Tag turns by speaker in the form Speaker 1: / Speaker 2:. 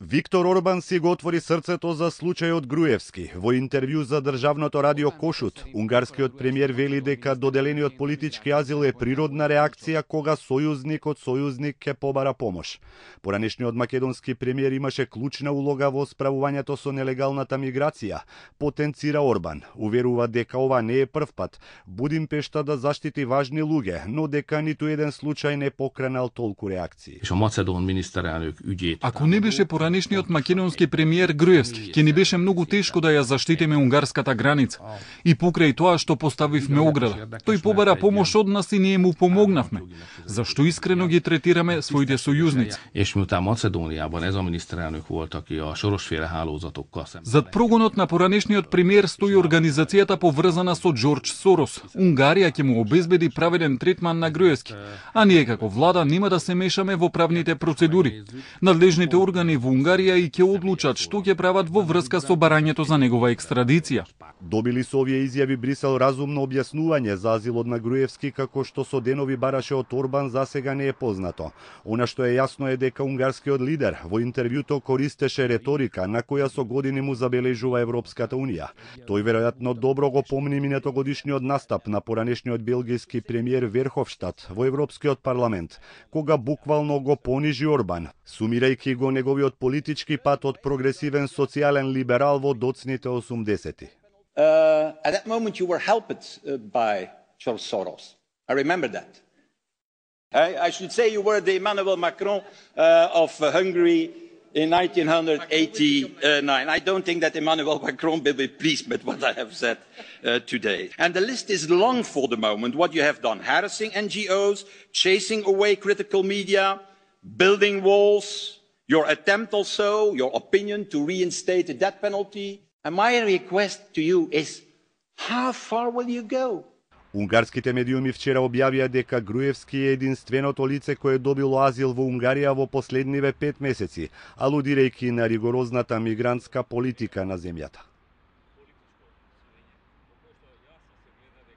Speaker 1: Виктор Орбан си го отвори срцето за случајот Груевски. Во интервју за државното радио Кошут, унгарскиот премиер вели дека доделениот политички азил е природна реакција кога сојузник од сојузник ќе побара помош. Поранешниот македонски премиер имаше клучна улога во справувањето со нелегалната миграција, потенцира Орбан. Уверува дека ова не е прв пат Будимпешта да заштити важни луѓе, но дека ниту еден случај не покренал толку реакции.
Speaker 2: Ако не беше поранешниот македонски премиер Груевски, ќе ни беше многу тешко да ја заштитиме унгарската граница. И покрај тоа што поставивме ограда, тој побара помош од нас и ние му помогнавме. Зашто искрено ги третираме своите сојузници? Зад прогонот на поранешниот премиер стои организацијата поврзана со Џорџ Сорос. Унгарија ќе му обезбеди праведен третман на Груевски, а ние како влада нема да се мешаме во правните процедури. Надлежните органи во Унгарија и ќе одлучат што ќе прават во врска со барањето за негова екстрадиција.
Speaker 1: Добили со овие изјави Брисел разумно објаснување за азилот на Груевски, како што со денови бараше од Орбан, засега не е познато. Она што е јасно е дека унгарскиот лидер во интервјуто користеше реторика на која со години му забележува Европската унија. Тој веројатно добро го помни минатогодишниот настап на поранешниот белгиски премиер Верховштад во Европскиот парламент, кога буквално го понижи Орбан, сумирајќи го неговиот политички пат од прогресивен социјален либерал во доцните 80-ти.
Speaker 3: At that moment you were helped by George Soros. I remember that. I should say you were the Emmanuel Macron of Hungary in 1989. I don't think that Emmanuel Macron will be pleased with what I have said today. And the list is long for the moment, what you have done. Harassing NGOs, chasing away critical media, building walls, your attempt also, your opinion to reinstate the death penalty. And my request to you is, how far will you go?
Speaker 1: Унгарските медиуми вчера објавија дека Груевски е единственото лице кое добило азил во Унгарија во последниве 5 месеци, алудирајќи на ригорозната мигрантска политика на земјата.